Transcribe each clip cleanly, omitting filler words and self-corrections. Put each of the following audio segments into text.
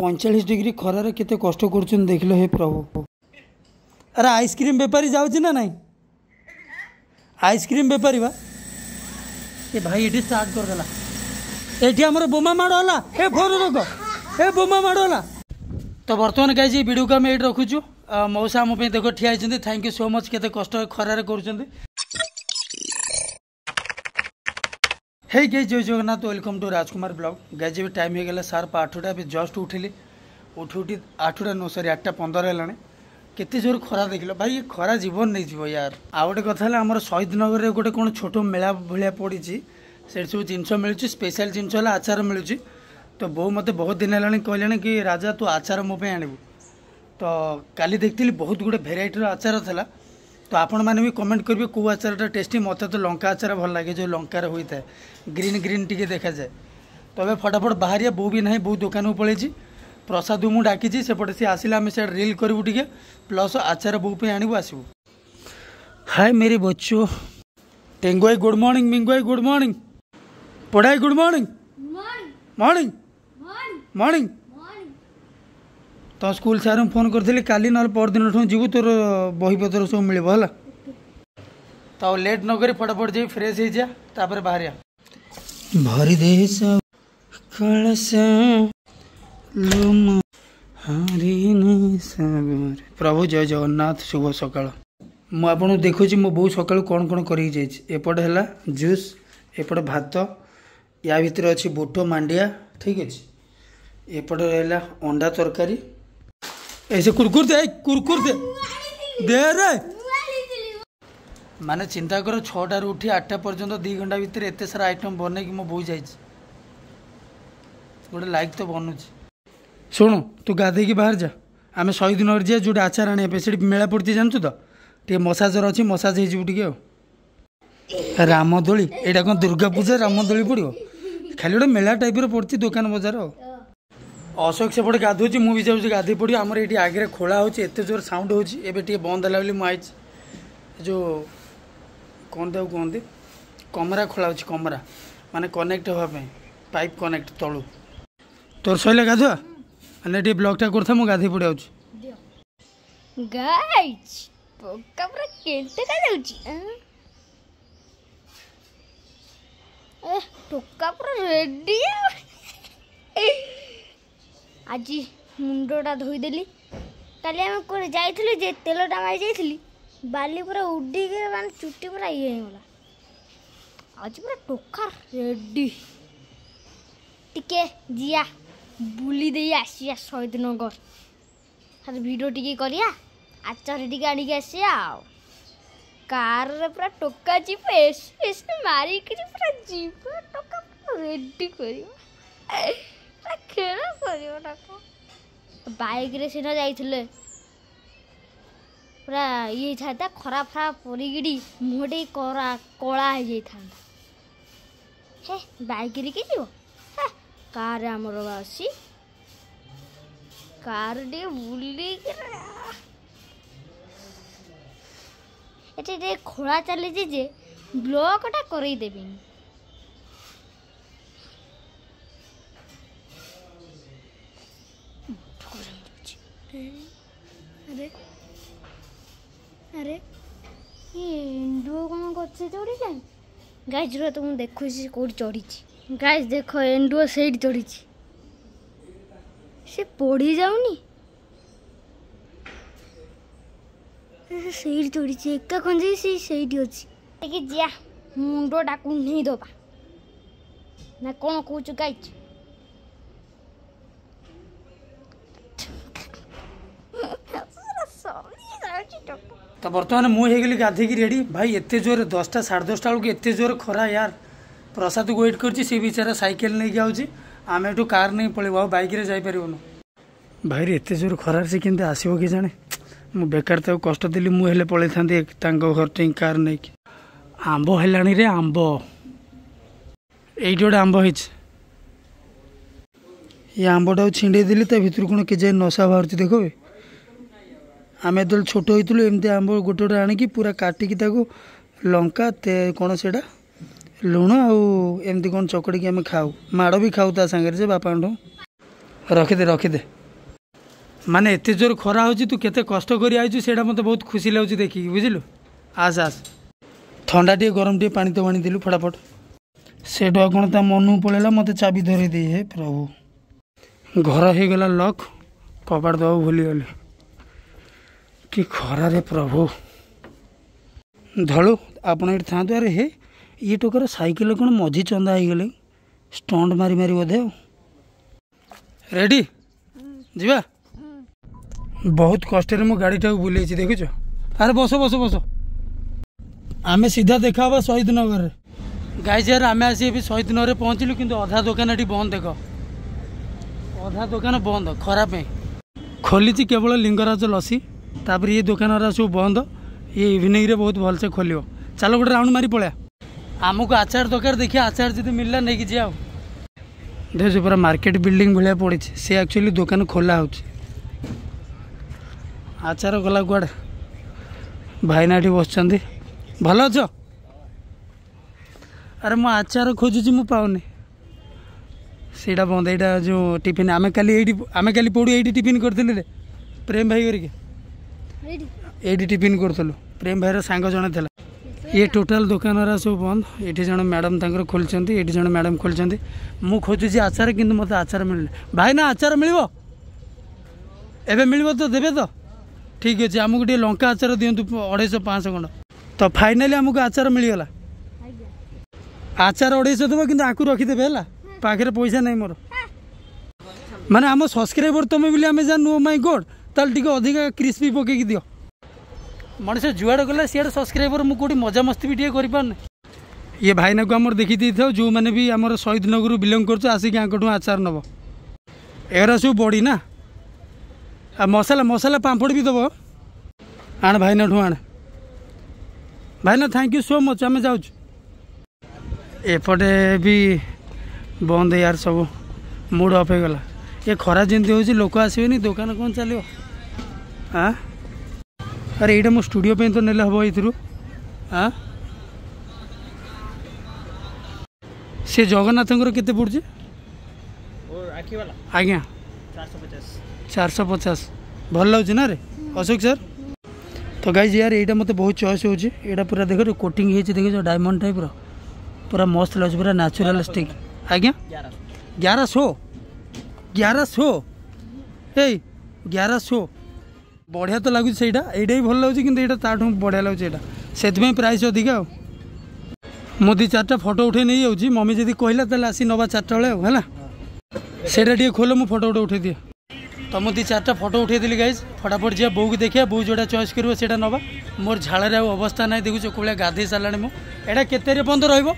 45 degree ଖରାରେ କେତେ କଷ୍ଟ କରୁଛନ୍ତି ଦେଖିଲ ହେ ପ୍ରଭୁ। ଆରେ ଆଇସ୍କ୍ରିମ୍ ବେପାରୀ ଯାଉଛି ନା ନାଇଁ? ଆଇସ୍କ୍ରିମ୍ ବେପାରୀ ବା ଏ ଭାଇ ଏଠି ଷ୍ଟାର୍ଟ କରିଦେଲା। ଏଠି ଆମର ବୋମା ମାଡ଼ ହେଲା। ଏ ଫୋନ ରଖ, ଏ ବୋମା ମାଡ଼ ହେଲା। ତ ବର୍ତ୍ତମାନ ଗାଇଛି ଏଇ ଭିଡ଼ିଓକୁ ଆମେ ଏଇଠି ରଖୁଛୁ। ମଉସା ଆମ ପାଇଁ ଦେଖ ଠିଆ ହେଇଛନ୍ତି। Thank you so much, କେତେ କଷ୍ଟ ଖରାରେ କରୁଛନ୍ତି। ହେଇ ଗାଇଜ୍, ଜୟ Jagannath, welcome to Rajkumar blog. Guys ଏବେ ଟାଇମ୍ ହେଇଗଲା ସାର୍ପ 8ଟା, ଏବେ ଜଷ୍ଟ ଉଠିଲି। ଉଠି ଉଠି 8ଟା ନୁହଁ, ସରି 8:15 ହେଲାଣି। କେତେ ଜୋର ଖରା ଦେଖିଲ ଭାଇ, ଏ ଖରା ଜୀବନ ନେଇଯିବ ୟାର। ଆଉ ଗୋଟେ କଥା ହେଲା, ଆମର ଶହୀଦନଗରରେ ଗୋଟେ କ'ଣ ଛୋଟ ମେଳା ଭଳିଆ ପଡ଼ିଛି, ସେଇଠି ସବୁ ଜିନିଷ ମିଳୁଛି। ସ୍ପେଶାଲ ଜିନିଷ ହେଲା ଆଚାର ମିଳୁଛି। ତ ବୋଉ ମୋତେ ବହୁତ ଦିନ ହେଲାଣି କହିଲାଣି କି ରାଜା ତୁ ଆଚାର ମୋ ପାଇଁ ଆଣିବୁ। ତ କାଲି ଦେଖିଥିଲି ବହୁତ ଗୁଡ଼େ ଭେରାଇଟିର ଆଚାର ଥିଲା। ତ ଆପଣମାନେ ବି କମେଣ୍ଟ କରିବେ କେଉଁ ଆଚାରଟା ଟେଷ୍ଟି। ମୋତେ ତ ଲଙ୍କା ଆଚାର ଭଲ ଲାଗେ, ଯେଉଁ ଲଙ୍କାରେ ହୋଇଥାଏ, ଗ୍ରୀନ୍ ଗ୍ରୀନ୍ ଟିକେ ଦେଖାଯାଏ। ତ ଏବେ ଫଟାଫଟ ବାହାରିବା, ବୋଉ ବି ନାହିଁ, ବୋଉ ଦୋକାନକୁ ପଳେଇଛି। ପ୍ରସାଦକୁ ମୁଁ ଡାକିଛି, ସେପଟେ ସିଏ ଆସିଲେ ଆମେ ସିଆଡ଼େ ରିଲ୍ କରିବୁ ଟିକେ, ପ୍ଲସ୍ ଆଚାର ବୋଉ ପାଇଁ ଆଣିବୁ ଆସିବୁ। ହାଏ ମେରି ବଚ୍ଚୁ, ଟେଙ୍ଗୁଆଇ ଗୁଡ଼୍ ମର୍ଣ୍ଣିଂ, ମିଙ୍ଗୁଆଇ ଗୁଡ଼୍ ମର୍ଣ୍ଣିଂ, ପଢ଼ାଇ ଗୁଡ଼୍ ମର୍ଣ୍ଣିଂ, ମର୍ଣ୍ଣିଂ ମର୍ଣ୍ଣିଂ। ତ ସ୍କୁଲ ସାର୍ଙ୍କୁ ଫୋନ୍ କରିଥିଲି, କାଲି ନହେଲେ ପରଦିନଠୁ ଯିବୁ, ତୋର ବହିପତ୍ର ସବୁ ମିଳିବ ହେଲା। ତ ଆଉ ଲେଟ୍ ନ କରି ଫଟାଫଟ ଯାଇ ଫ୍ରେଶ୍ ହେଇଯା, ତାପରେ ବାହାରିବା। ଭରି ଦେ ପ୍ରଭୁ, ଜୟ ଜଗନ୍ନାଥ, ଶୁଭ ସକାଳ। ମୁଁ ଆପଣଙ୍କୁ ଦେଖୁଛି ମୋ ବୋଉ ସକାଳୁ କ'ଣ କ'ଣ କରିକି ଯାଇଛି। ଏପଟେ ହେଲା ଜୁସ୍, ଏପଟେ ଭାତ, ୟା ଭିତରେ ଅଛି ବୁଟ ମାଣ୍ଡିଆ, ଠିକ୍ ଅଛି। ଏପଟେ ରହିଲା ଅଣ୍ଡା ତରକାରୀ। ଏ ସେ କୁରକୁର ଦେ, କୁରକୁର ଦେ, ଦେ ରେ। ମାନେ ଚିନ୍ତା କର, 6ଟାରୁ ଉଠି 8ଟା ପର୍ଯ୍ୟନ୍ତ 2 ଘଣ୍ଟା ଭିତରେ ଏତେ ସାରା ଆଇଟମ୍ ବନେଇକି ମୋ ବୋଉ ଯାଇଛି। ଗୋଟେ ଲାଇକ୍ ତ ବନୁଛି। ଶୁଣୁ, ତୁ ଗାଧେଇକି ବାହାରି ଯା, ଆମେ ଶହୀଦନଗର ଯିବା ଯେଉଁଠି ଆଚାର ଆଣିବା ପାଇଁ। ସେଠି ମେଳା ପଡ଼ିଛି ଜାଣିଛୁ ତ, ଟିକେ ମସାଜର ଅଛି, ମସାଜ ହେଇଯିବୁ ଟିକେ। ଆଉ ରାମଦୋଳି, ଏଇଟା କ'ଣ ଦୁର୍ଗା ପୂଜା ରାମଦୋଳି ପଡ଼ିବ? ଖାଲି ଗୋଟେ ମେଳା ଟାଇପ୍ର ପଡ଼ିଛି, ଦୋକାନ ବଜାର। ଆଉ ଅଶୋକ ସେପଟେ ଗାଧୋଉଛି, ମୁଁ ବି ଯାଉଛି ଗାଧୋଇ ପଡ଼ିବ। ଆମର ଏଇଠି ଆଗରେ ଖୋଳା ହେଉଛି, ଏତେ ଜୋର ସାଉଣ୍ଡ ହେଉଛି। ଏବେ ଟିକେ ବନ୍ଦ ହେଲା ବୋଲି ମୁଁ ଆଇଛି। ଯେଉଁ କ'ଣ ତାକୁ କୁହନ୍ତି, କମରା ଖୋଳା ହେଉଛି, କମରା ମାନେ କନେକ୍ଟ ହେବା ପାଇଁ ପାଇପ୍ କନେକ୍ଟ ତଳୁ। ତୋର ସରିଲା ଗାଧୁଆ? ମାନେ ଟିକେ ବ୍ଲଗ୍ଟା କରୁଥା, ମୁଁ ଗାଧୋଇ ପଡ଼ି ଆଉଛି। ଗାଇଜ୍ ପୋକା ପୁରା କେତେ ଯାଉଛି, ଏ ଟୋକା ପୁରା ରେଡି। ଆଜି ମୁଣ୍ଡଟା ଧୋଇଦେଲି। କାଲି ଆମେ କୁଆଡ଼େ ଯାଇଥିଲୁ ଯେ ତେଲଟା ମାରି ଯାଇଥିଲି, ବାଲି ପୁରା ଉଡ଼ିକି ମାନେ ଚୁଟି ପୁରା ଇଏ ହେଇଗଲା। ଆଜି ପୁରା ଟୋକା ରେଡି। ଟିକେ ଯିଆ ବୁଲି ଦେଇ ଆସିବା ଶହୀଦନଗର, ଖାଲି ଭିଡ଼ିଓ ଟିକେ କରିବା, ଆଚାର ଟିକେ ଆଣିକି ଆସିବା। ଆଉ କାରରେ ପୁରା ଟୋକା ଯିବ, ଏସି ଫେସି ମାରିକିରି ପୁରା ଯିବ ଟୋକା, ପୁରା ରେଡି କରିବ, ପୁରା ଖେଳ କରିବ ଟୋକା। ବାଇକ୍ରେ ସିନା ଯାଇଥିଲେ ପୁରା ଇଏ ହେଇଥାନ୍ତା, ଖରା ଫରା ପଡ଼ିକିରି ମୁହଁ ଟିକେ କରା କଳା ହେଇଯାଇଥାନ୍ତା। ହେ ବାଇକ୍ରେ କିଏ ଯିବ, ହେ କାରରେ ଆମର ଅଛି, କାର ଟିକେ ବୁଲିକି। ଏଠି ଟିକେ ଖୋଳା ଚାଲିଛି ଯେ ବ୍ଲକଟା କରେଇ ଦେବେନି। ଆରେ ଆରେ, ଏଣ୍ଡୁଅ କ'ଣ ଗଛ ଚଢ଼ିଲାଣି? ଗାଈ ରୁହ ତ, ମୁଁ ଦେଖୁଛି କୋଉଠି ଚଢ଼ିଛି। ଗାଈ ଦେଖ, ଏଣ୍ଡୁଅ ସେଇଠି ଚଢ଼ିଛି, ସେ ପଡ଼ି ଯାଉନି, ସେଇଠି ଚଢ଼ିଛି ଏକା ଖଞ୍ଜେଇ, ସେ ସେଇଠି ଅଛି। ଟିକେ ଯିଆ ମୁଣ୍ଡଟା କୁଣ୍ଢେଇ ଦବା ନା କ'ଣ କହୁଛୁ ଗାଇଛି? ତ ବର୍ତ୍ତମାନ ମୁଁ ହେଇଗଲି ଗାଧେଇକି ରେଡ଼ି। ଭାଇ ଏତେ ଜୋରେ 10ଟା 10:30 ବେଳକୁ ଏତେ ଜୋରେ ଖରା ୟାର। ପ୍ରସାଦକୁ ୱେଟ୍ କରିଛି, ସେ ବିଚାରା ସାଇକେଲ ନେଇକି ଆଉଛି। ଆମେ ଏଠୁ କାର୍ ନେଇ ପଳେଇବୁ, ଆଉ ବାଇକ୍ରେ ଯାଇପାରିବୁନୁ। ଭାଇରେ ଏତେ ଜୋରେ ଖରାରେ ସେ କେମିତି ଆସିବ କି ଜାଣେ। ମୁଁ ବେକାର ତାକୁ କଷ୍ଟ ଦେଲି, ମୁଁ ହେଲେ ପଳେଇଥାନ୍ତି ତାଙ୍କ ଘର ଠେଇଁ କାର୍ ନେଇକି। ଆମ୍ବ ହେଲାଣି ରେ ଆମ୍ବ, ଏଇଠି ଗୋଟେ ଆମ୍ବ ହେଇଛି। ଏ ଆମ୍ବଟାକୁ ଛିଣ୍ଡେଇ ଦେଲି, ତା ଭିତରୁ କ'ଣ କେଜାଣି ନଶା ବାହାରୁଛି ଦେଖ ବେ। ଆମେ ଯେତେବେଳେ ଛୋଟ ହେଇଥିଲୁ ଏମିତି ଆମ୍ବ ଗୋଟେ ଗୋଟେ ଆଣିକି ପୁରା କାଟିକି ତାକୁ ଲଙ୍କା କ'ଣ ସେଇଟା ଲୁଣ ଆଉ ଏମିତି କ'ଣ ଚକଡ଼ିକି ଆମେ ଖାଉ, ମାଡ଼ ବି ଖାଉ ତା ସାଙ୍ଗରେ ଯେ ବାପାଙ୍କଠୁ। ରଖିଦେ ରଖିଦେ। ମାନେ ଏତେ ଜୋର ଖରା ହେଉଛି, ତୁ କେତେ କଷ୍ଟ କରି ଆଇଛୁ ସେଇଟା ମୋତେ ବହୁତ ଖୁସି ଲାଗୁଛି ଦେଖିକି, ବୁଝିଲୁ? ଆସ ଆସ, ଥଣ୍ଡା ଟିକେ ଗରମ ଟିକେ ପାଣି ତ ଆଣିଦେଲୁ ଫଟାଫଟ। ସେଇଠୁ ଆଉ କ'ଣ ତା ମନକୁ ପଳେଇଲା, ମୋତେ ଚାବି ଧରେଇ ଦେଇ। ହେ ପ୍ରଭୁ, ଘର ହେଇଗଲା ଲକ୍, କବାଟ ଦେବାକୁ ଭୁଲିଗଲି। କି ଖରାରେ ପ୍ରଭୁ। ଧଳୁ ଆପଣ ଏଠି ଥାଆନ୍ତୁ। ଆରେ ହେ, ଇଏ ଟୋକାର ସାଇକେଲ କ'ଣ ମଝି ଚନ୍ଦା ହେଇଗଲେ, ଷ୍ଟଣ୍ଟ ମାରି ମାରି ବୋଧେ। ଆଉ ରେଡ଼ି ଯିବା? ବହୁତ କଷ୍ଟରେ ମୁଁ ଗାଡ଼ିଟାକୁ ବୁଲେଇଛି ଦେଖୁଛ। ଆରେ ବସ ବସ ବସ, ଆମେ ସିଧା ଦେଖା ହେବା ଶହୀଦ ନଗରରେ। ଗାଇଜ ୟାର ଆମେ ଆସି ଏବେ ଶହୀଦ ନଗରରେ ପହଞ୍ଚିଲୁ, କିନ୍ତୁ ଅଧା ଦୋକାନ ଏଠି ବନ୍ଦ। ଦେଖ, ଅଧା ଦୋକାନ ବନ୍ଦ ଖରା ପାଇଁ। ଖୋଲିଛି କେବଳ ଲିଙ୍ଗରାଜ ଲସି, ତାପରେ ଇଏ ଦୋକାନଗୁରା ସବୁ ବନ୍ଦ। ଇଏ ଇଭିନିଂରେ ବହୁତ ଭଲସେ ଖୋଲିବ। ଚାଲ ଗୋଟେ ରାଉଣ୍ଡ ମାରି ପଳେଇବା। ଆମକୁ ଆଚାର ଦରକାର, ଦେଖିବା ଆଚାର ଯଦି ମିଳିଲା ନେଇକି ଯିବା। ଆଉ ଦେଖ, ପୁରା ମାର୍କେଟ ବିଲ୍ଡିଂ ଭଳିଆ ପଡ଼ିଛି, ସେ ଆକ୍ଚୁଆଲି ଦୋକାନ ଖୋଲା ହେଉଛି। ଆଚାର ଗଲା କୁଆଡ଼େ? ଭାଇନା ଏଠି ବସିଛନ୍ତି। ଭଲ ଅଛ? ଆରେ ମୁଁ ଆଚାର ଖୋଜୁଛି, ମୁଁ ପାଉନି। ସେଇଟା ବନ୍ଦ। ଏଇଟା ଯେଉଁ ଟିଫିନ୍ ଆମେ କାଲି ଏଇଠି, ଆମେ କାଲି ପଡ଼ୁ ଏଇଠି ଟିଫିନ୍ କରିଥିଲୁ ରେ ପ୍ରେମ ଭାଇ କରିକି, ଏଇଠି ଟିଫିନ୍ କରୁଥିଲୁ। ପ୍ରେମ ଭାଇର ସାଙ୍ଗ ଜଣେ ଥିଲା। ଇଏ ଟୋଟାଲ୍ ଦୋକାନଗୁରା ସବୁ ବନ୍ଦ। ଏଠି ଜଣେ ମ୍ୟାଡ଼ାମ୍ ତାଙ୍କର ଖୋଲିଛନ୍ତି, ଏଠି ଜଣେ ମ୍ୟାଡ଼ାମ୍ ଖୋଲିଛନ୍ତି। ମୁଁ ଖୋଜୁଛି ଆଚାର, କିନ୍ତୁ ମୋତେ ଆଚାର ମିଳିନି। ଭାଇନା ଆଚାର ମିଳିବ? ଏବେ ମିଳିବ ତ? ଦେବେ ତ? ଠିକ୍ ଅଛି, ଆମକୁ ଟିକେ ଲଙ୍କା ଆଚାର ଦିଅନ୍ତୁ, 250 500 ଖଣ୍ଡ। ତ ଫାଇନାଲି ଆମକୁ ଆଚାର ମିଳିଗଲା। ଆଚାର 250 ଦେବ, କିନ୍ତୁ ଆକୁ ରଖିଦେବେ ହେଲା, ପାଖରେ ପଇସା ନାହିଁ ମୋର। ମାନେ ଆମ ସବସ୍କ୍ରାଇବର ତମେ ବୋଲି ଆମେ ଜାଣିନୁ। ଓ ମାଇ ଗଡ୍, ତାହେଲେ ଟିକେ ଅଧିକା କ୍ରିସ୍ପି ପକେଇକି ଦିଅ। ମଣିଷ ଯୁଆଡ଼େ ଗଲା ସିଆଡ଼େ ସବସ୍କ୍ରାଇବର, ମୁଁ କେଉଁଠି ମଜାମସ୍ତି ବି ଟିକେ କରିପାରୁନି। ଇଏ ଭାଇନାକୁ ଆମର ଦେଖି ଦେଇଥାଉ, ଯେଉଁମାନେ ବି ଆମର ଶହୀଦ ନଗରରୁ ବିଲଙ୍ଗ କରୁଛ ଆସିକି ଆଙ୍କଠୁ ଆଚାର ନେବ। ଏଗୁରା ସବୁ ବଡ଼ି ନା, ଆଉ ମସଲା ମସଲା ପାମ୍ପଡ଼ ବି ଦେବ। ଆଣ ଭାଇନାଠୁ ଆଣ। ଭାଇନା thank you so much, ଆମେ ଯାଉଛୁ। ଏପଟେ ବି ବନ୍ଦ ୟାର, ସବୁ ମୁଡ଼ ଅଫ୍ ହେଇଗଲା। ଏ ଖରା ଯେମିତି ହେଉଛି, ଲୋକ ଆସିବେନି, ଦୋକାନ କ'ଣ ଚାଲିବ? ଆଁ ଆରେ ଏଇଟା ମୋ ଷ୍ଟୁଡ଼ିଓ ପାଇଁ ତ ନେଲେ ହେବ ଏଇଥିରୁ। ଆଁ ସେ ଜଗନ୍ନାଥଙ୍କର କେତେ ପଡ଼ୁଛି ଆଜ୍ଞା? 450। ଭଲ ଲାଗୁଛି ନା ରେ ଅଶୋକ ସାର୍? ତ ଗାଇଜ ୟାର ଏଇଟା ମୋତେ ବହୁତ ଚଏସ୍ ହେଉଛି। ଏଇଟା ପୁରା ଦେଖ କୋଟିଂ ହେଇଛି, ଦେଖୁଛ ଡାଇମଣ୍ଡ ଟାଇପ୍ର, ପୁରା ମସ୍ତ ଲାଗୁଛି, ପୁରା ନ୍ୟାଚୁରାଲ ଷ୍ଟିକ୍। ଆଜ୍ଞା 1100, 1100, ଏଇ 1100। ବଢ଼ିଆ ତ ଲାଗୁଛି ସେଇଟା, ଏଇଟା ବି ଭଲ ଲାଗୁଛି, କିନ୍ତୁ ଏଇଟା ତାଠୁ ବଢ଼ିଆ ଲାଗୁଛି ଏଇଟା, ସେଥିପାଇଁ ପ୍ରାଇସ୍ ଅଧିକା। ଆଉ ମୁଁ 2 4ଟା ଫଟୋ ଉଠେଇ ନେଇଯାଉଛି, ମମି ଯଦି କହିଲା ତାହେଲେ ଆସି ନେବା 4ଟା ବେଳେ। ଆଉ ହେଲା ସେଇଟା ଟିକେ ଖୋଲ, ମୁଁ ଫଟୋ ଗୋଟେ ଉଠେଇ ଦିଏ। ତ ମୁଁ 2 4ଟା ଫଟୋ ଉଠେଇଦେଲି ଗାଇଜ୍, ଫଟାଫଟ ଯିବା ବୋଉକୁ ଦେଖିବା, ବୋଉ ଯେଉଁଟା ଚଏସ୍ କରିବ ସେଇଟା ନେବା। ମୋର ଝାଳରେ ଆଉ ଅବସ୍ଥା ନାହିଁ, ଦେଖୁଛ କୋଉ ଭଳିଆ ଗାଧେଇ ସାରିଲାଣି ମୁଁ। ଏଇଟା କେତେ ତାରିଖ ପର୍ଯ୍ୟନ୍ତ ରହିବ?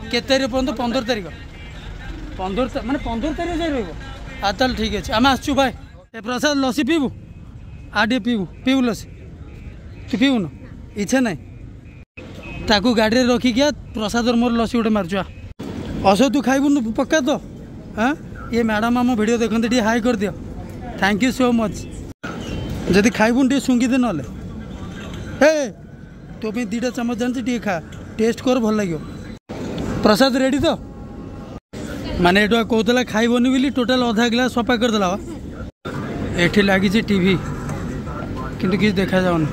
କେତେ ତାରିଖ ପର୍ଯ୍ୟନ୍ତ? 15 ତାରିଖ। 15 ମାନେ 15 ତାରିଖ ଯାଇ ରହିବ। ଆଉ ତାହେଲେ ଠିକ୍ ଅଛି, ଆମେ ଆସୁଛୁ ଭାଇ। ଏ ପ୍ରସାଦ ଲସି ପିଇବୁ? ଆଉ ଟିକେ ପିଇବୁ? ପିଇବୁ ଲସି? ତୁ ପିଇବୁନୁ? ଇଚ୍ଛା ନାହିଁ? ତାକୁ ଗାଡ଼ିରେ ରଖିକି ପ୍ରସାଦର ମୋର ଲସି ଗୋଟେ ମାରୁଛୁ। ଅଶୋକ ତୁ ଖାଇବୁନୁ ପକ୍କା ତ? ହଁ, ଇଏ ମ୍ୟାଡ଼ାମ୍ ଆମ ଭିଡ଼ିଓ ଦେଖନ୍ତି, ଟିକେ ହାଇ କରିଦିଅ। Thank you so much. ଯଦି ଖାଇବୁନି ଟିକେ ଶୁଙ୍ଘିଦେ ନହେଲେ। ହେ ତୋ ପାଇଁ 2ଟା ଚାମଚ ଜାଣିଛି, ଟିକେ ଖା, ଟେଷ୍ଟ କର, ଭଲ ଲାଗିବ। ପ୍ରସାଦ ରେଡ଼ି ତ? ମାନେ ଏଠୁ କହୁଥିଲା ଖାଇବନି ବୋଲି ଟୋଟାଲ ଅଧା ଗ୍ଲାସ୍ ସଫା କରିଦେଲା। ଏଠି ଲାଗିଛି ଟିଭି, କିନ୍ତୁ କିଛି ଦେଖାଯାଉନି।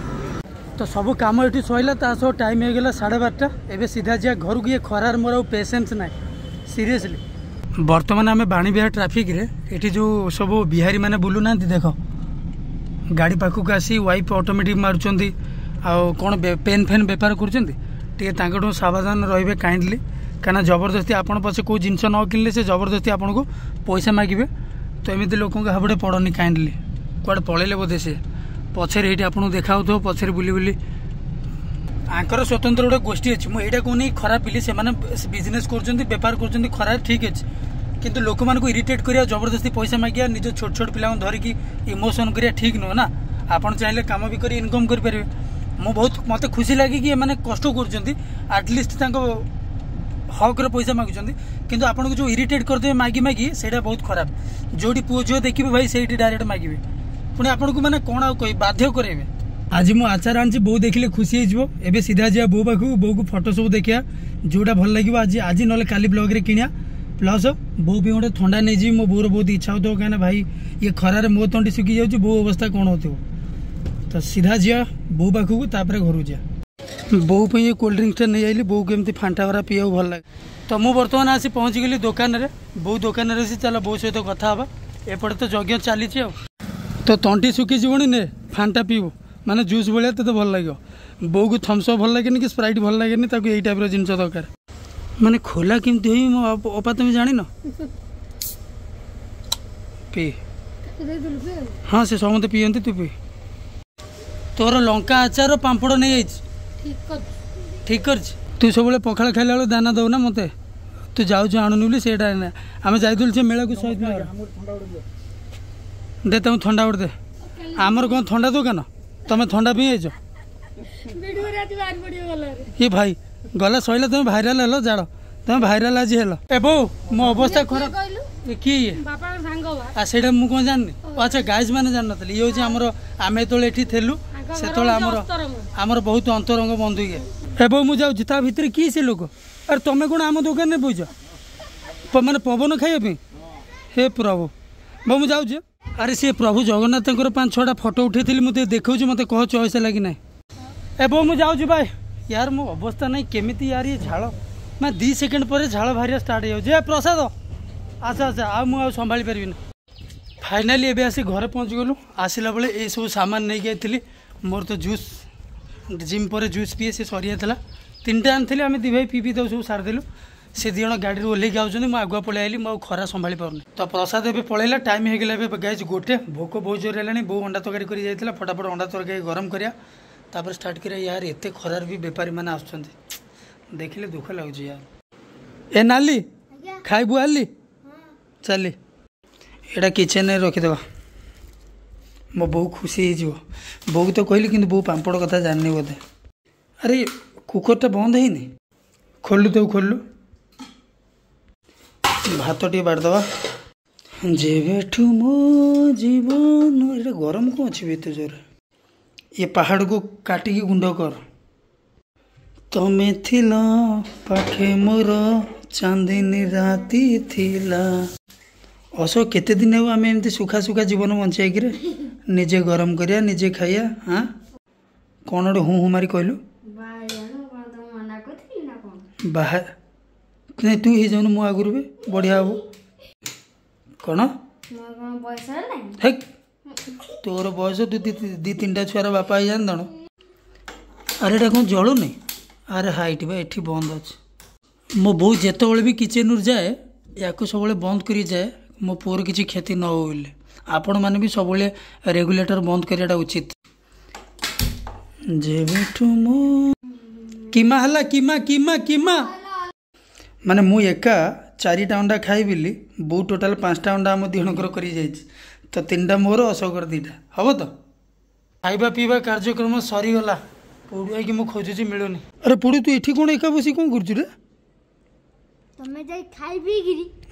ତ ସବୁ କାମ ଏଠି ସରିଲା, ତା ସହ ଟାଇମ୍ ହେଇଗଲା 12:30। ଏବେ ସିଧା ଯିବା ଘରକୁ, ଇଏ ଖରାରେ ମୋର ଆଉ ପେସେନ୍ସ ନାହିଁ ସିରିୟସଲି। ବର୍ତ୍ତମାନ ଆମେ ବାଣୀବିହାର ଟ୍ରାଫିକ୍ରେ, ଏଠି ଯେଉଁ ସବୁ ବିହାରୀ ମାନେ ବୁଲୁନାହାନ୍ତି ଦେଖ, ଗାଡ଼ି ପାଖକୁ ଆସି ୱାଇପ୍ ଅଟୋମେଟିକ୍ ମାରୁଛନ୍ତି, ଆଉ କ'ଣ ପେନ୍ ଫେନ୍ ବେପାର କରୁଛନ୍ତି। ଟିକେ ତାଙ୍କଠୁ ସାବଧାନ ରହିବେ କାଇଣ୍ଡଲି, କାହିଁକିନା ଜବରଦସ୍ତି ଆପଣ ପଛେ କେଉଁ ଜିନିଷ ନ କିଣିଲେ ସେ ଜବରଦସ୍ତି ଆପଣଙ୍କୁ ପଇସା ମାଗିବେ। ତ ଏମିତି ଲୋକଙ୍କ ହାବୁଡ଼େ ପଡ଼ନି କାଇଣ୍ଡଲି। କୁଆଡ଼େ ପଳେଇଲେ ବୋଧେ ସେ, ପଛରେ ଏଇଠି ଆପଣଙ୍କୁ ଦେଖାହେଉଥିବ ପଛରେ ବୁଲି ବୁଲି। ଆଙ୍କର ସ୍ୱତନ୍ତ୍ର ଗୋଟେ ଗୋଷ୍ଠୀ ଅଛି। ମୁଁ ଏଇଟା କହୁନି ଖରାପ ବୋଲି, ସେମାନେ ବିଜନେସ୍ କରୁଛନ୍ତି, ବେପାର କରୁଛନ୍ତି ଖରାପ, ଠିକ୍ ଅଛି, କିନ୍ତୁ ଲୋକମାନଙ୍କୁ ଇରିଟେଟ୍ କରିବା, ଜବରଦସ୍ତି ପଇସା ମାଗିବା, ନିଜ ଛୋଟ ଛୋଟ ପିଲାଙ୍କୁ ଧରିକି ଇମୋସନ୍ କରିବା ଠିକ୍ ନୁହଁ ନା। ଆପଣ ଚାହିଁଲେ କାମ ବି କରି ଇନକମ୍ କରିପାରିବେ। ମୁଁ ବହୁତ ମୋତେ ଖୁସି ଲାଗେ କି ଏମାନେ କଷ୍ଟ କରୁଛନ୍ତି, ଆଟଲିଷ୍ଟ ତାଙ୍କ ହକ୍ର ପଇସା ମାଗୁଛନ୍ତି, କିନ୍ତୁ ଆପଣଙ୍କୁ ଯେଉଁ ଇରିଟେଟ୍ କରିଦେବେ ମାଗି ମାଗି, ସେଇଟା ବହୁତ ଖରାପ। ଯେଉଁଠି ପୁଅ ଝିଅ ଦେଖିବେ ଭାଇ ସେଇଠି ଡାଇରେକ୍ଟ ମାଗିବେ, ପୁଣି ଆପଣଙ୍କୁ ମାନେ କ'ଣ ଆଉ କହିବି, ବାଧ୍ୟ କରାଇବେ। ଆଜି ମୁଁ ଆଚାର ଆଣିଛି, ବୋଉ ଦେଖିଲେ ଖୁସି ହେଇଯିବ। ଏବେ ସିଧା ଯିବା ବୋଉ ପାଖକୁ, ବୋଉକୁ ଫଟୋ ସବୁ ଦେଖିବା, ଯେଉଁଟା ଭଲ ଲାଗିବ ଆଜି ଆଜି ନହେଲେ କାଲି ବ୍ଲଗ୍ରେ କିଣିବା। ପ୍ଲସ୍ ବୋଉ ପାଇଁ ଗୋଟେ ଥଣ୍ଡା ନେଇଯିବି। ମୋ ବୋଉର ବହୁତ ଇଚ୍ଛା ହେଉଥିବ, କାହିଁକିନା ଭାଇ ଇଏ ଖରାରେ ମୋ ତଣ୍ଟି ଶୁଖି ଯାଉଛି, ବୋଉ ଅବସ୍ଥା କ'ଣ ହେଉଥିବ। ତ ସିଧା ଯିବା ବୋଉ ପାଖକୁ, ତାପରେ ଘରକୁ ଯିବା। ବୋଉ ପାଇଁ ଏ କୋଲ୍ଡ ଡ୍ରିଙ୍କସଟା ନେଇ ଆଇଲି, ବୋଉକୁ ଏମିତି ଫାଣ୍ଟା ଭରା ପିଇବାକୁ ଭଲ ଲାଗେ। ତ ମୁଁ ବର୍ତ୍ତମାନ ଆସି ପହଞ୍ଚିଗଲି ଦୋକାନରେ, ବୋଉ ଦୋକାନରେ ଅଛି, ଚାଲ ବୋଉ ସହିତ କଥା ହେବା। ଏପଟେ ତ ଯଜ୍ଞ ଚାଲିଛି। ଆଉ ତ ତଣ୍ଟି ଶୁଖିଯିବଣି, ନେ ଫାଣ୍ଟା ପିଇବୁ, ମାନେ ଜୁସ୍ ଭଳିଆ ତୋତେ ଭଲ ଲାଗିବ। ବୋଉକୁ ଥମ୍ସଅପ୍ ଭଲ ଲାଗେନି କି ସ୍ପ୍ରାଇଟ୍ ଭଲ ଲାଗେନି, ତାକୁ ଏଇ ଟାଇପ୍ର ଜିନିଷ ଦରକାର। ମାନେ ଖୋଲା କେମିତି ହୋଇ ମୋ ଅପା ତମେ ଜାଣିନ? ପି। ହଁ, ସେ ସମସ୍ତେ ପିଅନ୍ତି, ତୁ ପି। ତୋର ଲଙ୍କା ଆଚାର ପାମ୍ପଡ଼ ନେଇଯାଇଛି, ଠିକ୍ କରିଛି। ତୁ ସବୁବେଳେ ପଖାଳ ଖାଇଲା ବେଳକୁ ଦାନା ଦେଉନା ମୋତେ, ତୁ ଯାଉଛୁ ଆଣୁନି ବୋଲି। ସେଇଟା ଆମେ ଯାଇଥିଲୁ ସେ ମେଳାକୁ ଶହୀଦ ନଗର। ଦେ ତାଙ୍କୁ ଥଣ୍ଡା ଗୋଟେ ଦେ। ଆମର କ'ଣ ଥଣ୍ଡା ଦୋକାନ? ତମେ ଥଣ୍ଡା ପିଇ ଯାଇଛ ଏ ଭାଇ, ଗଲା ସଇଲା, ତମେ ଭାଇରାଲ ହେଲ। ଜାଣ ତମେ ଭାଇରାଲ ଆଜି ହେଲ। ଏ ବୋଉ, ମୋ ଅବସ୍ଥା ଖରାପ। କିଏ ଇଏ? ଆଉ ସେଇଟା ମୁଁ କ'ଣ ଜାଣିନି? ଆଚ୍ଛା, ଗାଇଜ ମାନେ ଜାଣିନଥିଲେ। ଇଏ ହେଉଛି ଆମର, ଆମେ ଯେତେବେଳେ ଏଠି ଥିଲୁ ସେତେବେଳେ ଆମର ବହୁତ ଅନ୍ତରଙ୍ଗ ବନ୍ଧୁ ଇଏ। ଏ ବୋଉ, ମୁଁ ଯାଉଛି। ତା ଭିତରେ କିଏ ସେ ଲୋକ? ଆରେ ତମେ କ'ଣ ଆମ ଦୋକାନରେ ବଇଛ ମାନେ ପବନ ଖାଇବା ପାଇଁ? ହେ ପ୍ରଭୁ। ବୋଉ, ମୁଁ ଯାଉଛି। ଆରେ ସେ ପ୍ରଭୁ ଜଗନ୍ନାଥଙ୍କର 5 6ଟା ଫଟୋ ଉଠେଇଥିଲି, ମୁଁ ଟିକେ ଦେଖାଉଛି, ମୋତେ କହ ଚଏସ୍ ହେଲା କି ନାହିଁ। ଏ ବୋଉ, ମୁଁ ଯାଉଛି ଭାଇ। ୟାର ମୋ ଅବସ୍ଥା ନାହିଁ କେମିତି ୟାର, ଇଏ ଝାଳ ମାନେ 2 ସେକେଣ୍ଡ ପରେ ଝାଳ ବାହାରିବା ଷ୍ଟାର୍ଟ ହେଇଯାଉଛି। ଏ ପ୍ରସାଦ, ଆଚ୍ଛା ଆଚ୍ଛା, ଆଉ ମୁଁ ଆଉ ସମ୍ଭାଳି ପାରିବିନି। ଫାଇନାଲି ଏବେ ଆସି ଘରେ ପହଞ୍ଚିଗଲୁ। ଆସିଲା ବେଳେ ଏଇସବୁ ସାମାନ ନେଇକି ଯାଇଥିଲି। ମୋର ତ ଜୁସ୍, ଜିମ୍ ପରେ ଜୁସ୍ ପିଏ, ସେ ସରିଯାଇଥିଲା। 3ଟା ଆଣିଥିଲି, ଆମେ 2 ଭାଇ ପିଇ ପିଇ ତାକୁ ସବୁ ସାରିଦେଲୁ। ସେ 2 ଜଣ ଗାଡ଼ିରୁ ଓହ୍ଲେଇକି ଆଉଛନ୍ତି, ମୁଁ ଆଗୁଆ ପଳେଇ ଆଇଲି, ମୁଁ ଆଉ ଖରା ସମ୍ଭାଳି ପାରୁନି। ତ ପ୍ରସାଦ ଏବେ ପଳେଇଲା, ଟାଇମ୍ ହେଇଗଲା ଏବେ ଗାଇଜ 1। ଭୋକ ବହୁତ ଜୋର ହେଲାଣି। ବୋଉ ଅଣ୍ଡା ତରକାରୀ କରି ଯାଇଥିଲା, ଫଟାଫଟ ଅଣ୍ଡା ତରକାରୀ ଗରମ କରିବା, ତାପରେ ଷ୍ଟାର୍ଟ କରିବା। ୟାର ଏତେ ଖରାରେ ବି ବେପାରୀମାନେ ଆସୁଛନ୍ତି, ଦେଖିଲେ ଦୁଃଖ ଲାଗୁଛି ୟାର। ଏ ନାଲି, ଖାଇବୁ ଆଲି? ଚାଲି, ଏଇଟା କିଚେନରେ ରଖିଦେବା, ମୋ ବୋଉ ଖୁସି ହେଇଯିବ। ବୋଉକୁ ତ କହିଲି, କିନ୍ତୁ ବୋଉ ପାମ୍ପଡ଼ କଥା ଜାଣିନି ବୋଧେ। ଆରେ କୁକରଟା ବନ୍ଦ ହେଇନି, ଖୋଲିଲୁ ତାକୁ, ଖୋଲିଲୁ। ଭାତ ଟିକେ ବାଢ଼ିଦେବା। ଯେବେଠୁ ମୋ ଜୀବନ। ଏଇଟା ଗରମ କ'ଣ ଅଛି ଏତେ ଜୋରେ? ଏ ପାହାଡ଼କୁ କାଟିକି ଗୁଣ୍ଡ କର। ତମେ ଥିଲ ପାଖେ ମୋର, ଚାନ୍ଦିନୀ ରାତି ଥିଲା। ଅଶୋକ, କେତେ ଦିନ ହେବ ଆମେ ଏମିତି ସୁଖା ସୁଖା ଜୀବନ ବଞ୍ଚେଇକିରେ? ନିଜେ ଗରମ କରିବା, ନିଜେ ଖାଇବା। ହଁ, କ'ଣ ଗୋଟେ ହୁଁ ହୁଁ ମାରି କହିଲୁ? ବାହା ନାଇଁ, ତୁ ହେଇଯାଉନୁ ମୁଁ ଆଗରୁ ବି, ବଢ଼ିଆ ହବ। କ'ଣ ହେ, ତୋର ବୟସ ତୁ 2 3ଟା ଛୁଆର ବାପା ହେଇଯାନ୍ତାଣୁ। ଆରେ ଏଇଟା କ'ଣ ଜଳୁନି? ଆରେ ହାଇଟ୍ ବା ଏଠି ବନ୍ଦ ଅଛି। ମୋ ବୋଉ ଯେତେବେଳେ ବି କିଚେନ୍ରୁ ଯାଏ, ୟାକୁ ସବୁବେଳେ ବନ୍ଦ କରି ଯାଏ, ମୋ ପୁଅର କିଛି କ୍ଷତି ନ ହଉ ବୋଲି। ଆପଣମାନେ ବି ସବୁବେଳେ ରେଗୁଲେଟର ବନ୍ଦ କରିବାଟା ଉଚିତ। ଯେବେଠୁ ମୁଁ କିମା ହେଲା, କିମା କିମା କିମା, ମାନେ ମୁଁ ଏକା 4ଟା ଅଣ୍ଡା ଖାଇବିଲି, ବୋଉ ଟୋଟାଲ 5ଟା ଅଣ୍ଡା ଆମ 2 ଜଣଙ୍କର କରି ଯାଇଛି। ତ 3ଟା ମୋର, ଅଶୋକର 2ଟା ହବ। ତ ଖାଇବା ପିଇବା କାର୍ଯ୍ୟକ୍ରମ ସରିଗଲା। ପୋଡ଼ୁଆଇକି ମୁଁ ଖୋଜୁଛି, ମିଳୁନି। ଆରେ ପୋଡ଼ୁ, ତୁ ଏଠି କ'ଣ ଏକା ବସି କ'ଣ କରୁଛୁ ରେ? ତମେ ଯାଇ ଖାଇ ପିଇକିରି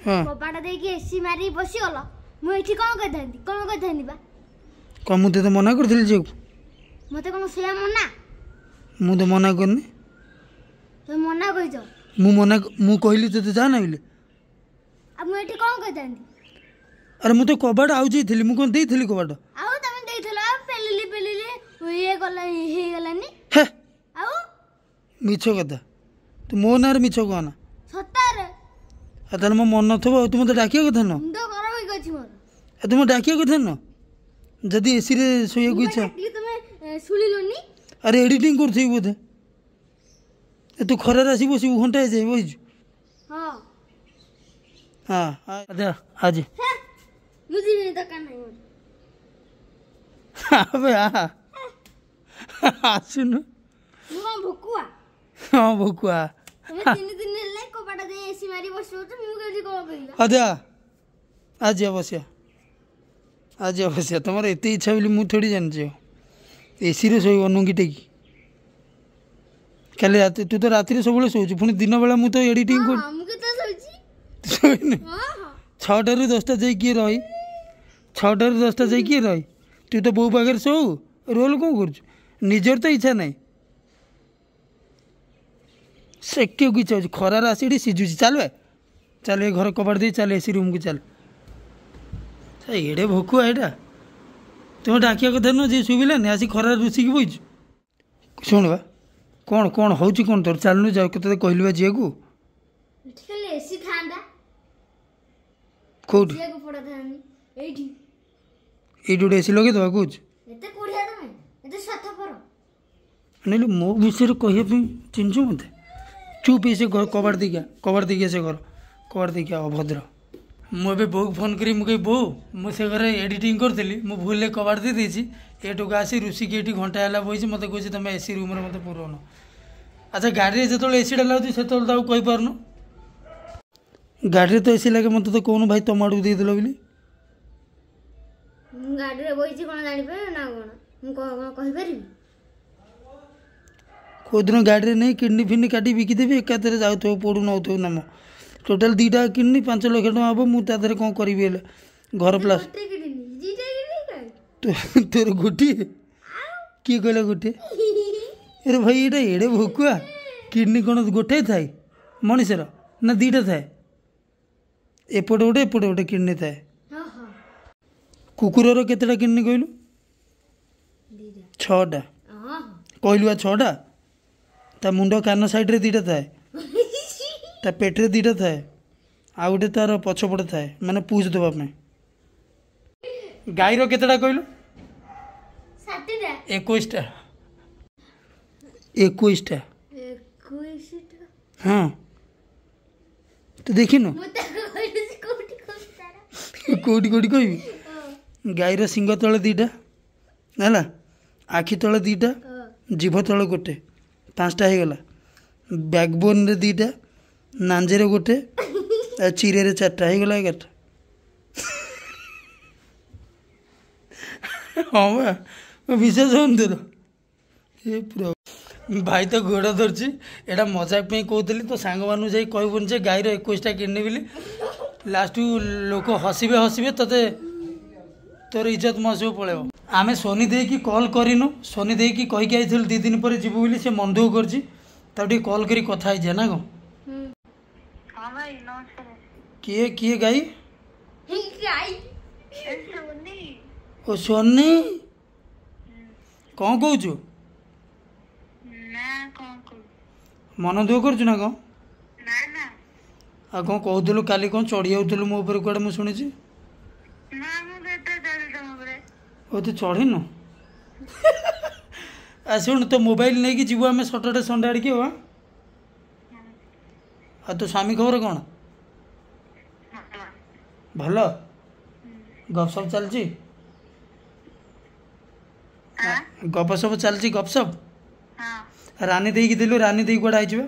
କବାଟ ଦେଇକି ଏସି ମାରିକି ବସିଗଲ, ମୁଁ ଏଠି କ'ଣ କରିଥାନ୍ତି? କ'ଣ କରିଥାନ୍ତି ବା? କ'ଣ ମୁଁ ତୋତେ ମନା କରିଥିଲି ଯିବାକୁ? ମତେ କ'ଣ ସେୟା ମନା? ମୁଁ ତ ମନା କରିନି। ତମେ ମନା କରିଛ। ମୁଁ ମନା, ମୁଁ କହିଲି ତୋତେ ଯା ନା ବୋଲି? ଆଉ ମୁଁ ଏଠି କ'ଣ କରିଥାନ୍ତି? ଆରେ ମୁଁ ତ କବାଟ ଆଉ ଯାଇଥିଲି, ମୁଁ କ'ଣ ଦେଇଥିଲି କବାଟ? ଆଉ ତମେ ଦେଇଥିଲ, ପେଲିଲି ପେଲିଲି ଇଏ ଗଲା ହେଇଗଲାନି। ହେ, ଆଉ ମିଛ କଥା, ତୁ ମୋ ନାଁରେ ମିଛ କହନା। ସତରେ। ଆଉ ତାହେଲେ ମୋ ମନ ନଥିବ। ଆଉ ତୁ ମୋତେ ଡାକିବା କଥା ନୁହଁ? ମୁଣ୍ଡ ଗରମ ହେଇକି ଅଛି ମୋର। ଆଉ ତୁମେ ଡାକିବା କଥା ନୁହଁ ଯଦି ଏସିରେ ଶୋଇବାକୁ ଇଚ୍ଛା। ତମେ ଶୁଣିଲନି? ଆରେ ଏଡ଼ିଟିଂ କରୁଥିବି ବୋଧେ। ତୁ ଖରାରେ ଆସିକି ବସିବୁ, ଘଣ୍ଟାଏ ଯାଇ ବସିଛୁ। ହଁ ହଁ, ଆଜି ମୁଁ ଯିବିନି, ଦରକାର ନାହିଁ ମୋର। ଆବେ ଆସୁନୁ। ମୁଁ କ'ଣ ଭୋକୁଆ? ହଁ, ଭୋକୁଆ। ତମେ 3 ଦିନ ହେଲା କବାଟ ଦେଇ ଏସି ମାରି ବସିବ, ମୁଁ କେମିତି କ'ଣ କରିବି? ଅଜା ଆଜି ବସିବା, ଆଜି ବସିବା। ତମର ଏତେ ଇଚ୍ଛା ବୋଲି ମୁଁ ଥୋଡ଼ି ଜାଣିଛି। ଏସିରେ ଶୋଇବ ନୁଙ୍ଗି ଟେକି କାଲି ରାତି। ତୁ ତ ରାତିରେ ସବୁବେଳେ ଶୋଉଛୁ, ପୁଣି ଦିନ ବେଳା ମୁଁ ତ ଏଡ଼ିଟିଂ କରୁଛି। ଶୋଇନି 6ଟାରୁ 10ଟା ଯାଇ କିଏ ରହି? 6ଟାରୁ 10ଟା ଯାଇ କିଏ ରହି? ତୁ ତ ବୋଉ ପାଖରେ ଶୋଉ, ରୋଲ୍ କ'ଣ କରୁଛୁ? ନିଜର ତ ଇଚ୍ଛା ନାହିଁ, ସେକିବାକୁ ଇଚ୍ଛା ହେଉଛି। ଖରାରେ ଆସି ଏଠି ସିଝୁଛି। ଚାଲ ଚାଲ ଏ ଘର କବାଟ ଦେଇ ଚାଲ, ଏସି ରୁମ୍କୁ ଚାଲ। ଏଡ଼େ ଭୋକୁଆ ଏଇଟା, ତୁମେ ଡାକିବା କଥା ନୁହଁ ଯେ ଶୁଭିଲାନି, ଆସି ଖରାରେ ରୁଷିକି ବଇଛୁ। ଶୁଣ ବା, କ'ଣ କ'ଣ ହେଉଛି କ'ଣ ତୋର? ଚାଲୁନୁ ଯାଉ, ତୋତେ କହିଲି ବା ଯିବାକୁ। କୋଉଠି ଏଇଠି ଗୋଟେ ଏସି ଲଗେଇଦେବା କହୁଛୁ? ନହେଲେ ମୋ ବିଷୟରେ କହିବା ପାଇଁ ଚିହ୍ନିଛୁ ମୋତେ? ଚୁପ୍, ସେ ଘର କବାଟ ଦେଇକି, କବାଟ ଦେଇକି, ସେ ଘର କବାଟ ଦେଇକି। ଅଭଦ୍ର। ମୁଁ ଏବେ ବୋଉକୁ ଫୋନ୍ କରି ମୁଁ କହିବି, ବୋଉ ମୁଁ ସେ ଘରେ ଏଡ଼ିଟିଂ କରୁଥିଲି, ମୁଁ ଭୁଲରେ କବାଟ ଦେଇଦେଇଛି, ଏଠୁକୁ ଆସି ରୁଷିକି ଏଠି ଘଣ୍ଟା ହେଲା ବଇଛି, ମୋତେ କହୁଛି ତୁମେ ଏସି ରୁମ୍ରେ ମୋତେ ପୁରଉନ। ଆଚ୍ଛା, ଗାଡ଼ିରେ ଯେତେବେଳେ ଏସିଟା ଲାଗୁଛି ସେତେବେଳେ ତାକୁ କହିପାରୁନୁ? ଗାଡ଼ିରେ ତ ଏସି ଲାଗେ, ମୋତେ ତ କହୁନୁ ଭାଇ ତମ ଆଡ଼କୁ ଦେଇଦେଲ ବୋଲି। ମୁଁ ଗାଡ଼ିରେ ବଇଛି କ'ଣ ଜାଣିପାରିବି ନା କ'ଣ? ମୁଁ କ'ଣ କହିପାରିବି? କେଉଁଦିନ ଗାଡ଼ିରେ ନେଇ କିଡ଼ନୀ ଫିଡ଼ନୀ କାଟି ବିକିଦେବି ଏକାଥରେ, ଯାଉଥିବ ପୋଡ଼ୁ ନଉଥିବ ନାମ। ଟୋଟାଲ୍ 2ଟା କିଡ଼ନୀ 5 ଲକ୍ଷ ଟଙ୍କା ହେବ, ମୁଁ ତା ଦେହରେ କ'ଣ କରିବି? ହେଲେ ଘର ପ୍ଲାସ୍ ତୋର ଗୋଟିଏ? କିଏ କହିଲା ଗୋଟିଏ? ଆରେ ଭାଇ, ଏଇଟା ଏଡ଼େ ଭୋକୁଆ। କିଡ଼ନୀ କ'ଣ ଗୋଟାଏ ଥାଏ ମଣିଷର ନା 2ଟା ଥାଏ? ଏପଟେ ଗୋଟେ, ଏପଟେ ଗୋଟେ କିଡ଼ନୀ ଥାଏ। କୁକୁରର କେତେଟା କିଡ଼ନୀ କହିଲୁ? 6ଟା। କହିଲୁ ବା 6ଟା। ତା ମୁଣ୍ଡ କାନ ସାଇଡ଼୍ରେ 2ଟା ଥାଏ, ତା ପେଟରେ 2ଟା ଥାଏ, ଆଉ ଗୋଟେ ତାର ପଛପଟେ ଥାଏ, ମାନେ ପୁଜ ଦେବା ପାଇଁ। ଗାଈର କେତେଟା କହିଲୁ? 21ଟା। 21ଟା। ହଁ, ତୁ ଦେଖିନୁ? କୋଉଠି କୋଉଠି କହିବି? ଗାଈର ଶିଙ୍ଗ ତଳେ 2ଟା ହେଲା, ଆଖି ତଳେ 2ଟା, ଜିଭ ତଳେ ଗୋଟେ, 5ଟା ହେଇଗଲା। ବ୍ୟାକବୋନ୍ରେ 2ଟା, ନାଞ୍ଜରେ ଗୋଟେ, ଆଉ ଚିରେରେ 4ଟା, ହେଇଗଲା 11ଟା। ହଁ ବା, ବିଶ୍ୱାସ ହଉନି ତୋର? ଏ ପୁରା ଭାଇ ତ ଗୋଡ଼ ଧରିଛି। ଏଇଟା ମଜାକ ପାଇଁ କହୁଥିଲି, ତୋ ସାଙ୍ଗମାନଙ୍କୁ ଯାଇ କହିବୁନି ଯେ ଗାଈର 21ଟା କିଡ଼ନୀ ବୋଲି। ଲାଷ୍ଟକୁ ଲୋକ ହସିବେ ହସିବେ, ତୋତେ ତୋର ଇଜ୍ଜତ ମହସିବ ପଳେଇବ। ଆମେ ସୋନି ଦେଇକି କଲ୍ କରିନୁ, ସୋନି ଦେଇକି କହିକି ଆଇଥିଲୁ 2 ଦିନ ପରେ ଯିବୁ ବୋଲି, ସେ ମନ ଦୁଃଖ କରିଛି। ତାକୁ ଟିକେ କଲ୍ କରି କଥା ହେଇଯିବା ନା କ'ଣ? କିଏ କିଏ ଗାଈ? ଓ ସୋନି, କ'ଣ କହୁଛୁ? ମନ ଦୁଃଖ କରୁଛୁ ନା କ'ଣ? ଆଉ କ'ଣ କହୁଥିଲୁ କାଲି? କ'ଣ ଚଢ଼ି ଯାଉଥିଲୁ ମୋ ଉପରେ କୁଆଡ଼େ ମୁଁ ଶୁଣିଛି। ଓ ତୁ ଚଢ଼ିନୁ? ଆଉ ଶୁଣୁ, ତୋ ମୋବାଇଲ ନେଇକି ଯିବୁ ଆମେ ସଟରଡେ ସଣ୍ଡେ ଆଡ଼ିକି। ଆଉ ଆଉ ତୋ ସ୍ୱାମୀ ଖବର କ'ଣ? ଭଲ? ଗପସପ ଚାଲିଛି? ଗପସପ ଚାଲିଛି? ଗପସପ ରାନୀ ଦେଇକି ଦେଲୁ। ରାନୀ ଦେଇ କୁଆଡ଼େ ଆଇଯିବ?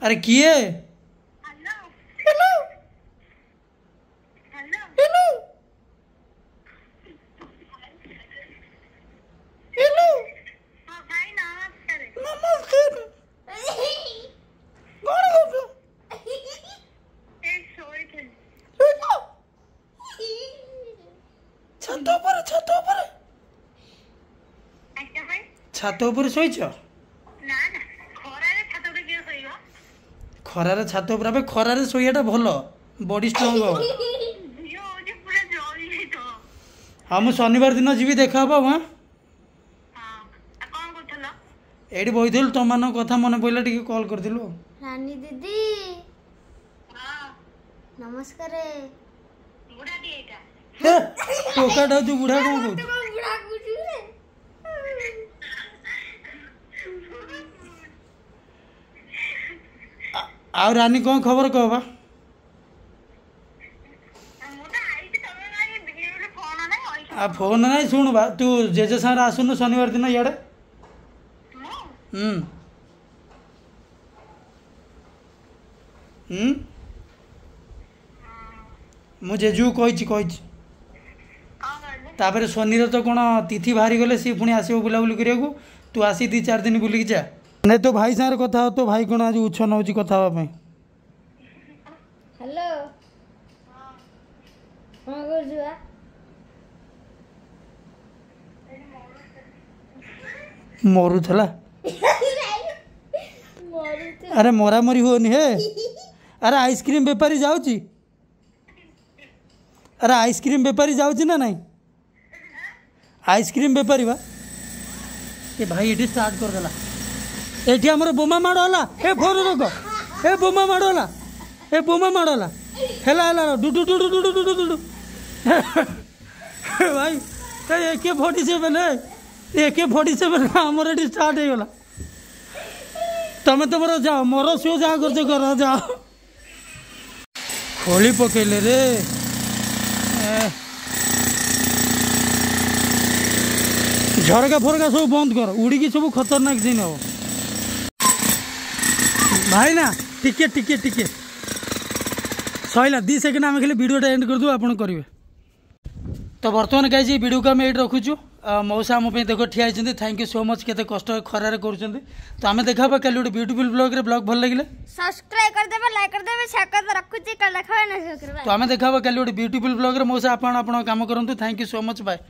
ଆରେ କିଏ? ହ୍ୟାଲୋ ହ୍ୟାଲୋ ହ୍ୟାଲୋ, ନମସ୍କାର। କ'ଣ କରୁଛ? ଛାତ ଉପରେ, ଛାତ ଉପରେ, ଛାତ ଉପରେ ଶୋଇଛ? ଖରାରେ ଛାତ ଉପରେ? ଆବେ ଖରାରେ ଶୋଇବାଟା ଭଲ, ବଡି ଷ୍ଟ୍ରଙ୍ଗ ହବ। ହଁ, ମୁଁ ଶନିବାର ଦିନ ଯିବି, ଦେଖା ହବ। ହଁ, ଏଇଠି ବଇଥିଲୁ, ତମମାନଙ୍କ କଥା ମନେ ପଡ଼ିଲା, ଟିକେ କଲ୍ କରିଥିଲୁ। ରାନୀ ଦିଦି ନମସ୍କାର। ଟୋକାଟା ତୁ ବୁଢା କ'ଣ କହୁଛୁ? ଆଉ ରାନୀ କ'ଣ ଖବର କହ ବା? ଆଉ ଫୋନ୍ ନାହିଁ। ଶୁଣୁ ବା, ତୁ ଜେଜେ ସାଙ୍ଗରେ ଆସୁନୁ ଶନିବାର ଦିନ ଇଆଡ଼େ। ହୁଁ ହୁଁ, ମୁଁ ଜେଜୁକୁ କହିଛି କହିଛି। ତାପରେ ଶନିର ତ କ'ଣ ତିଥି ବାହାରିଗଲେ ସିଏ ପୁଣି ଆସିବ ବୁଲାବୁଲି କରିବାକୁ। ତୁ ଆସି 2 4 ଦିନ ବୁଲିକି ଯା। ନାଇଁ, ତୋ ଭାଇ ସାଙ୍ଗରେ କଥା ହ। ତୋ ଭାଇ କ'ଣ ଆଜି ଉଚ୍ଛ ନେଉଛି କଥା ହେବା ପାଇଁ? ହ୍ୟାଲୋ। କଣ କରୁଛୁ ବା? ମରୁଥିଲା। ଆରେ ମରାମରି ହୁଅନି ହେ। ଆରେ ଆଇସ୍କ୍ରିମ୍ ବେପାରୀ ଯାଉଛି, ଆରେ ଆଇସ୍କ୍ରିମ୍ ବେପାରୀ ଯାଉଛି ନା ନାଇଁ? ଆଇସ୍କ୍ରିମ୍ ବେପାରୀ ବା। ଏ ଭାଇ ଏଠି ଷ୍ଟାର୍ଟ କରିଦେଲା। ଏଠି ଆମର ବୋମା ମାଡ଼ ହେଲା। ଏ ଫୋନ ରଖ। ଏ ବୋମା ମାଡ଼ ହେଲା, ଏ ବୋମା ମାଡ଼ ହେଲା, ହେଲା ହେଲା, ଡୁଡୁ ଡୁଡୁ ଡୁଡୁ ଡୁଡୁ ଡୁଡୁ। ଭାଇ ଏ AK-47, AK-47 ଆମର ଏଠି ଷ୍ଟାର୍ଟ ହେଇଗଲା। ତମେ ତମର ଯାଅ, ମୋର ସିଓ ଯାହା କରୁଛ କର, ଯାଅ। ଖୋଳି ପକେଇଲେ ରେ। ଝରକା ଫରକା ସବୁ ବନ୍ଦ କର, ଉଡ଼ିକି ସବୁ ଖତରନାକ ସିନ୍ ହବ। ଭାଇ ନା ଟିକେ ଟିକେ ଟିକେ ସରିଲା, 2 ସେକେଣ୍ଡ, ଆମେ ଖାଲି ଭିଡ଼ିଓଟା ଏଣ୍ଡ କରିଦେବୁ, ଆପଣ କରିବେ। ତ ବର୍ତ୍ତମାନ ଗାଇଜ ଏଇ ଭିଡ଼ିଓକୁ ଆମେ ଏଇଠି ରଖୁଛୁ। ମଉସା ଆମ ପାଇଁ ଦେଖ ଠିଆ ହେଇଛନ୍ତି, thank you so much, କେତେ କଷ୍ଟ ଖରାରେ କରୁଛନ୍ତି। ତ ଆମେ ଦେଖା ହବା କାଲି ଗୋଟେ ବ୍ୟୁଟିଫୁଲ୍ ବ୍ଲଗ୍ରେ। ବ୍ଲଗ୍ ଭଲ ଲାଗିଲେ ସବସ୍କ୍ରାଇବ୍ କରିଦେବେ, ଲାଇକ୍ କରିଦେବେ, ସେୟାର କରିଦେବେ। ରଖୁଛି, କାଲି ଦେଖା ହବା। ତ ଆମେ ଦେଖା ହବା କାଲି ଗୋଟେ ବ୍ୟୁଟିଫୁଲ୍ ବ୍ଲଗ୍ରେ। ମଉସା ଆପଣ ଆପଣଙ୍କ କାମ କରନ୍ତୁ। Thank you so much, bye.